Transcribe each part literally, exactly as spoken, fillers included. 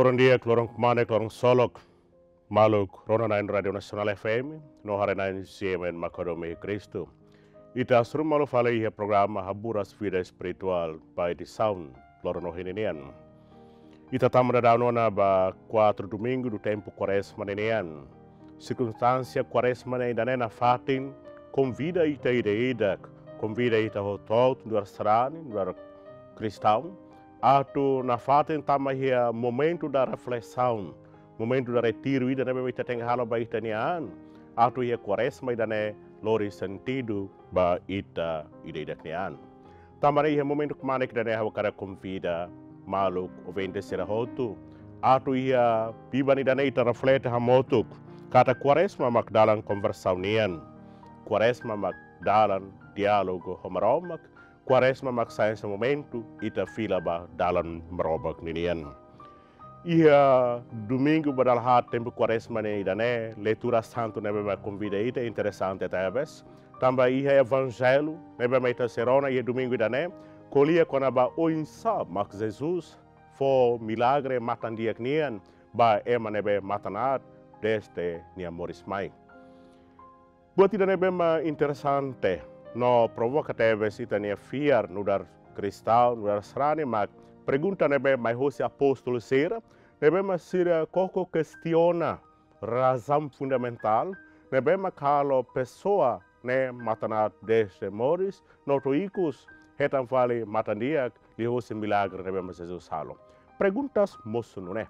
Loron di'ak, loron kmanek, loron ksolok. Maluk rona-na'in Rádiu Nasionál F M, no haree-na'in C M N Makodomi Kristu. Ita hasoru malu fali iha programa Haburas Vida Espirituál ba edisaun loron ohin ninian. Ita tama daudaun ona ba kuarta domingu do tempu Kuarezma ninian. Sirkunstánsia Kuarezma ne'e ida-ne'e nafatin konvida ita ida-idak, konvida ita hotu-hotu nu'udar sarani, nu'udar kristaun, atu nafatin tama iha momentu da reflesaun, momentu da retiru ida ne'ebé ita tenke halo ba ita-nia an, atu iha Kuarezma ida-ne'e lori sentidu ba ita ida-idak nia an. Tanba ne'e iha momentu kmanek ida-ne'e ha'u hakarak konvida maluk ouvinte sira hotu atu iha biban ida-ne'e ita reflete hamutuk katak Kuarezma mak dalan konversaun nian. Kuarezma mak dalan diálogu ho Maromak. Kuarezma mak sai hanesan momentu ita fila ba dalan Maromak ninian. Iha domingu ba dala haat tempu Kuarezma ne'e ida-ne'e, leitura santu ne'ebé mak konvida ita interesante tebes. Tanba iha evanjellu ne'ebé mak ita sei rona iha domingu ida-ne'e, ko'alia kona-ba oinsá mak Jesus fó milagre matan-di'ak nian ba ema ne'ebé matan aat dezde nia moris mai. Buat ida ne'ebé mak interesante no provoka tebes ita-nia fiar nu'udar kristaun, nu'udar sarani mak pergunta ne'ebé mai hosi apóstolu sira, ne'ebé mak sira koko kestiona razaun fundamentál ne'ebé mak halo pesoa ne'e matan aat dezde moris, no to'o ikus hetan fali matan-di'ak liuhosi milagre ne'ebé mak Jesus halo. Perguntas mosu nune'e: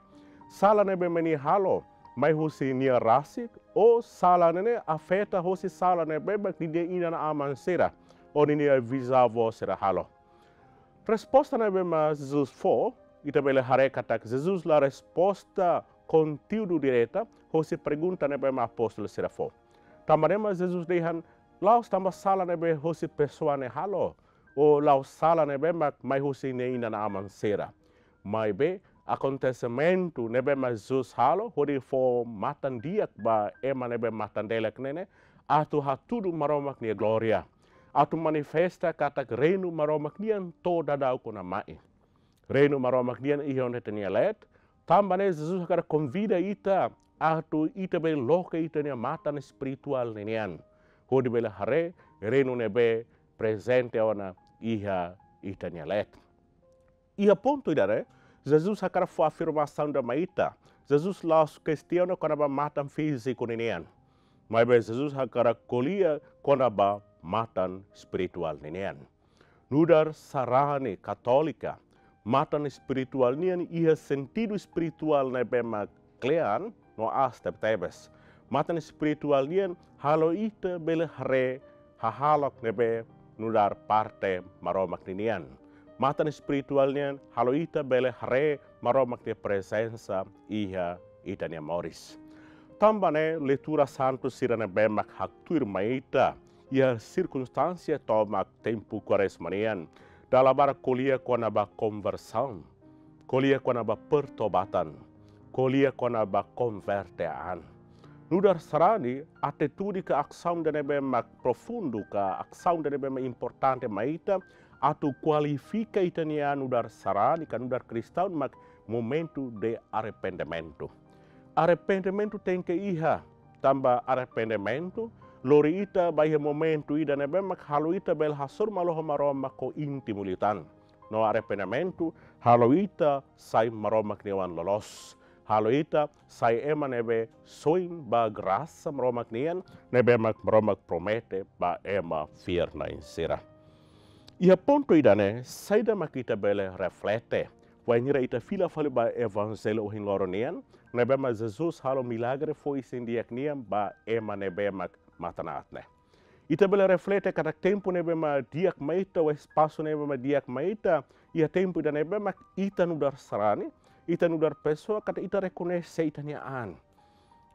sala ne'ebé mak nia halo mai husi nia rasik, ou sala ne'e ne'e afeta hosi sala ne'ebé mak ninia inan-aman sira ou ninia bizavó sira halo? Resposta ne'ebé mak Jesus fó, ita bele haree katak Jesus la resposta konteúdu direta hosi pergunta ne'ebé mak apóstolu sira fó. Tanba ne'e mak Jesus dehan la'ós tanba sala ne'ebé hosi pesoa ne'e halo, ou la'ós sala ne'ebé mak mai husi nia inan-aman sira. Maibé akontesimentu ne'ebé mak Jesus halo hodi fó matan-di'ak ba ema ne'ebé matan-delek ne'e ne'e atu hatudu Maromak nia glória, atu manifesta katak reinu Maromak nian to'o daudauk ona mai. Reinu Maromak nian iha ona ita-nia leet, tanba ne'e Jesus hakarak konvida ita atu ita bele loke ita-nia matan espirituál ninian hodi bele haree reinu ne'ebé prezente ona iha ita-nia leet. Iha pontu ida-ne'e, Jesus hakarak fó afirmasaun ida mai ita. Jesus la'ós kestiona kona-ba matan fíziku ninian. Maibé Jesus hakarak ko'alia kona-ba matan espirituál ninian. Nu'udar sarani katólika, matan espirituál nian iha sentidu espirituál ne'ebé mak kle'an no aas tebetebes. Matan espirituál nian halo ita bele haree hahalok ne'ebé nu'udar parte Maromak ninian. Matan espirituál nian halo ita bele haree Maromak nia prezensa iha ita-nia moris. Tanba ne'e leitura santu sira ne'ebé mak haktuir mai ita iha sirkunstánsia tomak tempu Kuarezma nian, dala barak ko'alia kona-ba konversaun, ko'alia kona-ba pertobatan, ko'alia kona-ba konverte an. Nu'udar sarani, atitude ka asaun ida ne'ebé mak profundu ka asaun ida ne'ebé mak importante mai ita atu kualifika ita-nia an nu'udar sarani ka nu'udar kristaun mak momentu de arrependimentu. Arrependimentu tenke iha, tanba arrependimentu lori ita ba iha momentu ida ne'ebé mak halo ita bele hasoru malu ho Maromak ho íntimu liután. No arrependimentu halo ita sai Maromak nia oan loloos. Halo ita sai ema ne'ebé soin ba grasa Maromak nian ne'ebé mak Maromak promete ba ema fiar-na'in sira. Iha pontu ida-ne'e, saida mak ita bele reflete wainhira ita fila fali ba evanjellu ohin loron nian, ne'ebé mak Jesus halo milagre fó isin-di'ak nian ba ema ne'ebé mak matan aat ne'e. Ita bele reflete katak tempu ne'ebé mak di'ak mai ita, ou espasu ne'ebé mak di'ak mai ita, iha tempu ida ne'ebé mak ita nu'udar sarani, ita nu'udar pesoa katak ita rekoñese ita-nia an.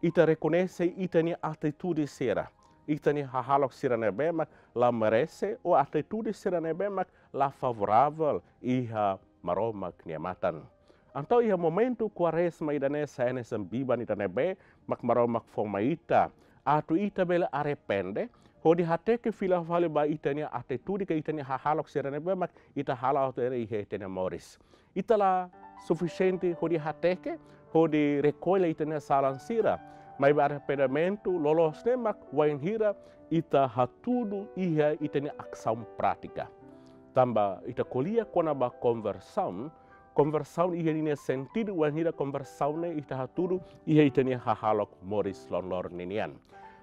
Ita rekoñese ita-nia atitude sira, ita-nia hahalok sira ne'ebé mak la merese, ou atitude sira ne'ebé mak la favoravel iha Maromak nia matan. Entaun iha momentu Kuarezma ida-ne'e sai hanesan biban ida ne'ebé mak Maromak fó mai ita, atu ita bele arrepende, hodi hateke fila fali ba ita-nia atitude ka ita-nia hahalok sira ne'ebé mak ita hala'o tiha ona iha ita-nia moris. Ita la sufisiente hodi hateke, hodi rekolla ita-nia salan sira. Maibé arrependimentu loloos ne'e mak wainhira ita hatudu iha ita-nia asaun prátika. Tanba ita ko'alia kona-ba konversaun, konversaun iha ninia sentidu wainhira konversaun ne'e ita hatudu iha ita-nia hahalok moris loroloron ninian.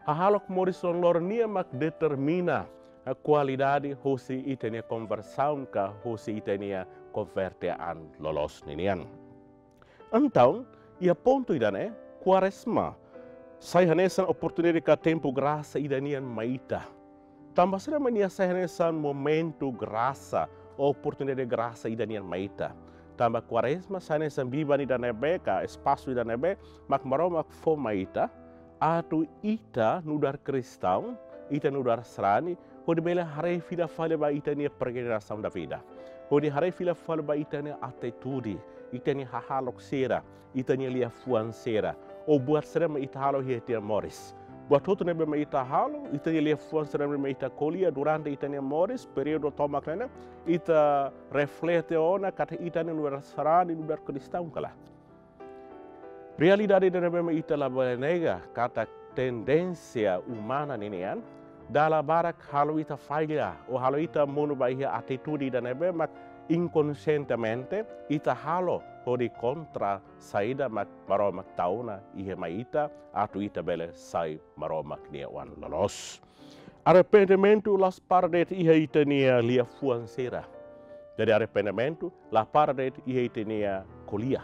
Hahalok moris loroloron nian mak determina, eh, kualidade hosi ita-nia konversaun ka hosi ita-nia konverte an loloos ninian. Entaun, iha pontu ida-ne'e, Kuarezma sai hanesan oportunidade ka tempu grasa ida nian mai ita. Tanba saida mak nia sai hanesan momentu grasa, oportunidade grasa ida nian mai ita? Tanba Kuarezma sai hanesan biban ida ne'ebé ka espasu ida ne'ebé mak Maromak fó mai ita, atu ita nu'udar kristaun, ita nu'udar sarani, hodi bele haree fila fali ba ita-nia peregrinasaun da vida. Hodi haree fila fali ba ita-nia atitude, ita-nia hahalok sira, ita-nia liafuan sira. Ou buat sira mak ita halo iha ita-nia moris. Buat hotu ne'ebé mak ita halo, ita-nia liafuan sira ne'ebé mak ita ko'alia durante ita-nia moris, períodu tomak ne'e, ita reflete ona katak ita ne'e nu'udar sarani, nu'udar kristaun ka lae. Realidade ida ne'ebé mak ita labele nega katak tendénsia umana ninian, dala barak halo ita falla, ou halo ita monu ba iha atitude ida ne'ebé mak inkonsientemente ita halo hodi kontra saida mak Maromak tau ona iha mai ita, atu ita bele sai Maromak nia oan loloos. Arrependimentu la para de'it iha ita-nia liafuan sira. Jadi arrependimentu la para de'it iha ita-nia ko'alia.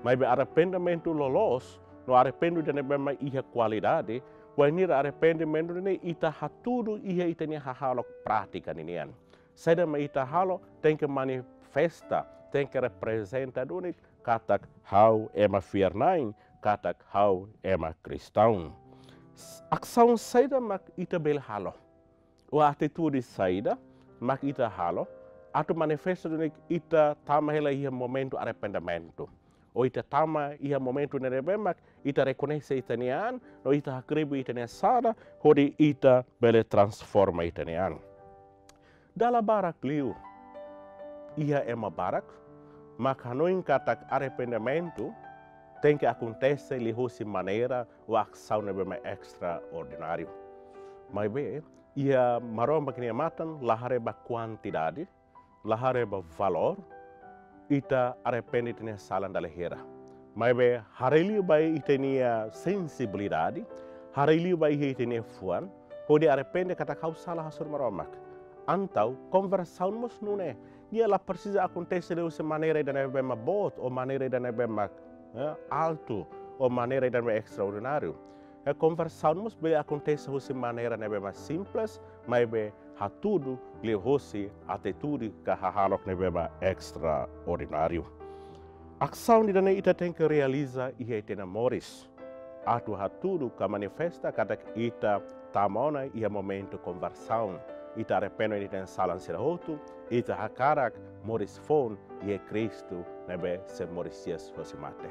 Maibé arrependimentu loloos, no arrependimentu ida ne'ebé mak iha kualidade, wainhira arrependimentu ne'e ita hatudu iha ita-nia hahalok prátika ninian. Saida mak ita halo, tenke manifesta, tenke reprezenta duni katak ha'u ema fiar-na'in, katak ha'u ema kristaun. S-, asaun saida mak ita bele halo? Ou atitude saida mak ita halo atu manifesta duni ita tama hela iha momentu arrependimentu? Ou ita tama iha momentu ne'ebé mak ita rekoñese ita-nia an, no ita hakribi ita-nia sala, hodi ita bele transforma ita-nia an. Dala barak liu, iha ema barak mak hanoin katak arrependimentu tenke akontese liuhosi maneira ou asaun ne'ebé mak estraordináriu. Maibé, iha Maromak nia matan la haree ba kuantidade, la haree ba valór, ita arrepende ita-nia sala dala hira. Maibé haree liu ba ita-nia sensibilidade, haree liu ba ita-nia fuan, hodi arrepende katak ha'u sala hasoru Maromak. Entaun, konversaun mós nune'e, nia la presiza akontese liuhosi maneira ida ne'ebé mak boot, ou maneira ida ne'ebé mak, eh, altu, ou maneira ida ne'ebé estraordináriu. Eh, konversaun mós bele akontese husi maneira ne'ebé mak simples, maibé hatudu liuhosi atitude ka hahalok ne'ebé mak estraordináriu. Asaun ida-ne'e ita tenke realiza iha ita-nia moris atu hatudu ka manifesta katak ita tama ona iha momentu konversaun. Ita arrepende ita-nia sala sira hotu, ita hakarak moris foun iha Kristu ne'ebé sei moris hi'as hosi mate.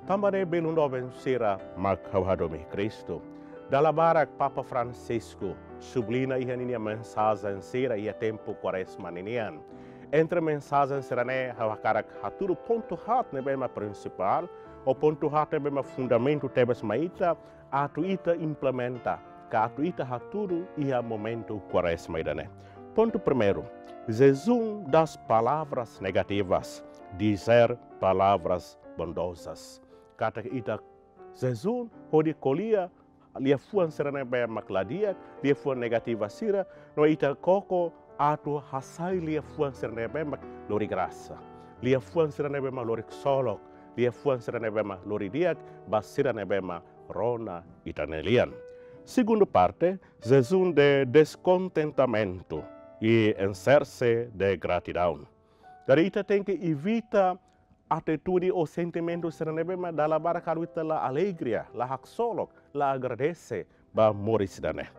Tanba ne'e belun doben sira mak ha'u hadomi Kristu, dala barak Papa Francisco subliña iha ninia mensajen sira iha tempu Kuarezma ninian. Entre mensajen sira-ne'e ha'u hakarak hatudu pontu haat ne'ebé mak prinsipál, ou pontu haat ne'ebé mak fundamentu tebes mai ita, atu ita implementa, ka atu ita hatudu iha momentu Kuarezma ida-ne'e. Pontu primeiru, jejum das palavras negativas, dizer palavras bondosas. Katak ita jejum hodi ko'alia liafuan sira ne'ebé mak la di'ak, liafuan negativa sira, no ita koko atu hasai liafuan sira ne'ebé mak lori grasa, liafuan sira ne'ebé mak lori ksolok, liafuan sira ne'ebé mak lori di'ak ba sira ne'ebé mak rona ita-nia lian. Segundu parte, jejum de descontentamiento e encherse de gratidão. Jadi ita tenke evita atitude ou sentimentu sira ne'ebé mak dala barak halo ita la alegria, la haksolok, la agradese ba moris ida-ne'e.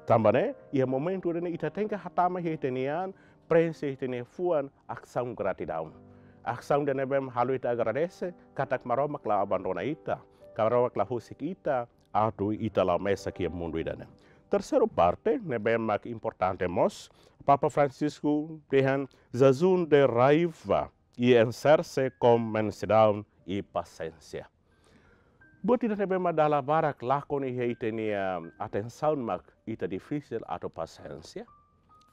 Tanba ne'e, iha momentu ida-ne'e ita tenke hatama iha ita-nia an, prenxe ita-nia fuan asaun gratidaun. Asaun ida ne'ebé mak halo ita agradese katak Maromak la abandona ita, Maromak la husik ita atu ita la'o mesak iha mundu ida-ne'e. Terseiru parte ne'ebé mak importante mós, Papa Francisco dehan jejum de raiva i enserse ho mansidão i pasiénsia. Buat ida ne'ebé mak dala barak lakon iha ita-nia atensaun mak ita difisil atu pasiénsia,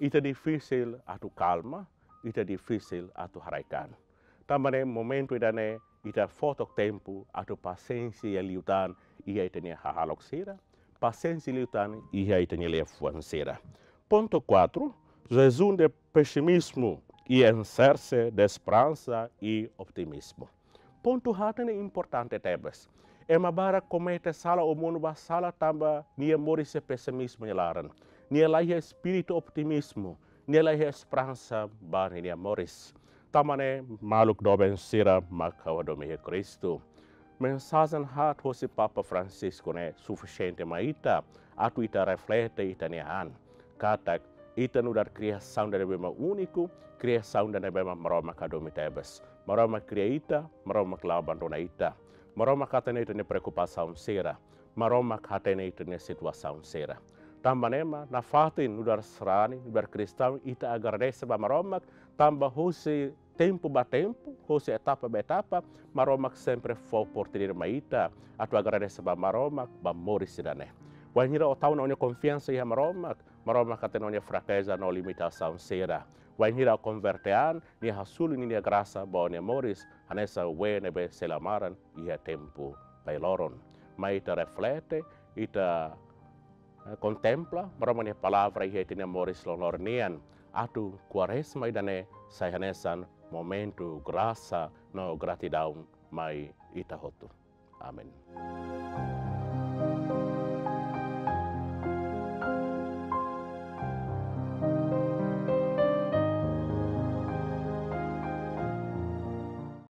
ita difisil atu kalma, ita difisil atu haraik-an. Tanba ne'e momentu ida-ne'e ita fó took tempu atu pasiénsia iha liután iha ita-nia hahalok sira, pasiénsia liután iha ita-nia liafuan sira. Pontu quatro, jejum de pesimizmu i enserse de esperansa i optimizmu. Pontu haat ne'e importante tebes. Ema barak komete sala ou monu ba sala tanba nia moris iha pesimizmu nia laran. Nia laiha espíritu optimizmu, nia laiha esperansa ba nia moris. Tanba ne'e maluk doben sira mak ha'u hadomi iha Kristu. Mensajen haat hosi Papa Francisco ne'e sufisiente mai ita atu ita reflete ita-nia an. Katak ita nu'udar kriasaun ida ne'ebé mak úniku, kriasaun ida ne'ebé mak Maromak hadomi tebes. Maromak kria ita, Maromak la abandona ita. Maromak hatene ita-nia preokupasaun sira. Maromak hatene ita-nia situasaun sira. Tanba ne'e mak nafatin nu'udar sarani, nu'udar kristaun ita agradese ba Maromak, tanba hosi tempu ba tempu, hosi etapa ba etapa, Maromak sempre fó oportunidade mai ita atu agradese ba Maromak ba moris ida-ne'e. Wainhira ó tau ó-nia konfiansa iha Maromak, Maromak hatene ó-nia frakeza no limitasaun sira. Wainhira ó konverte an, Nia hasoru Ninia grasa ba ó-nia moris, hanesan wee ne'ebé sei la maran iha tempu bailoron. Mai ita reflete, ita, eh, kontempla Maromak nia palavra iha ita-nia moris loron-loron nian. Atu Kuarezma ida-ne'e sai hanesan momentu grasa no gratidaun mai ita hotu. Amen.